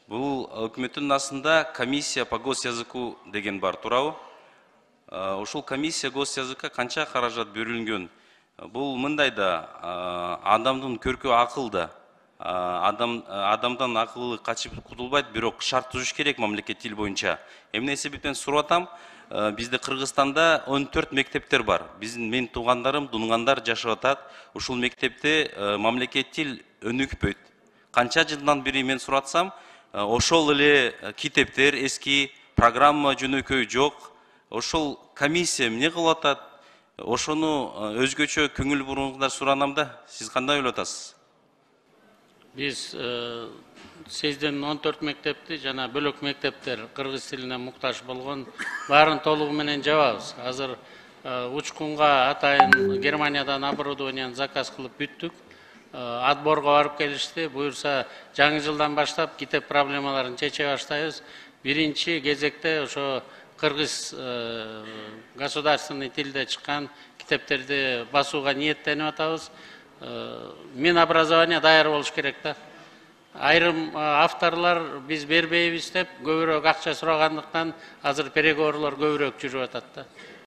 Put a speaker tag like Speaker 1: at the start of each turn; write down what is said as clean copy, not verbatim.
Speaker 1: Бул өкмөттүн астында комиссия по госязыку деген бар, туурабы? Ушул комиссия госязыкка канча каражат бөлүнгөн? Бул мындай да, адамдын көркү акылда. Адамдан акылы качып кутулбайт, бирок шарт түзүш керек мамлекет тил боюнча. Эмне себептен сурап атам? Бизде Кыргызстанда 14 мектептер бар. Менин туугандарым, дунгандар жашап атат. Ушул мектепте мамлекет тил өнүкпөйт. Канча жылдан бери мен суратсам, ошол эле китептер эски, программа жөнөкөй жок. Ошол комиссия эмне кылып атат? Ошону өзгөчө көңүл буруңуздар суранам да. Сиз кандай ойлоп атасыз?
Speaker 2: Биз сиздин 14 мектепти жана бөлөк мектептер кыргыз тилине муктаж болгон баарын толугу менен жабабыз. Азыр учкунга атайын Германиядан оборудованияны заказ кылып бүттүк. Отборго барып келишти. Буюрса жаңы жылдан баштап китеп проблемаларын чече баштайбыз. Биринчи кезекте ошо кыргыз государственный тилде чыккан китептерди басууга ниеттенип атабыз. Минобразование даяр болуш керек да. Айрым авторлор биз бербейбиз деп көбүрөөк акча сурагандыктан азыр переговорлор көбүрөөк жүрүп атат да.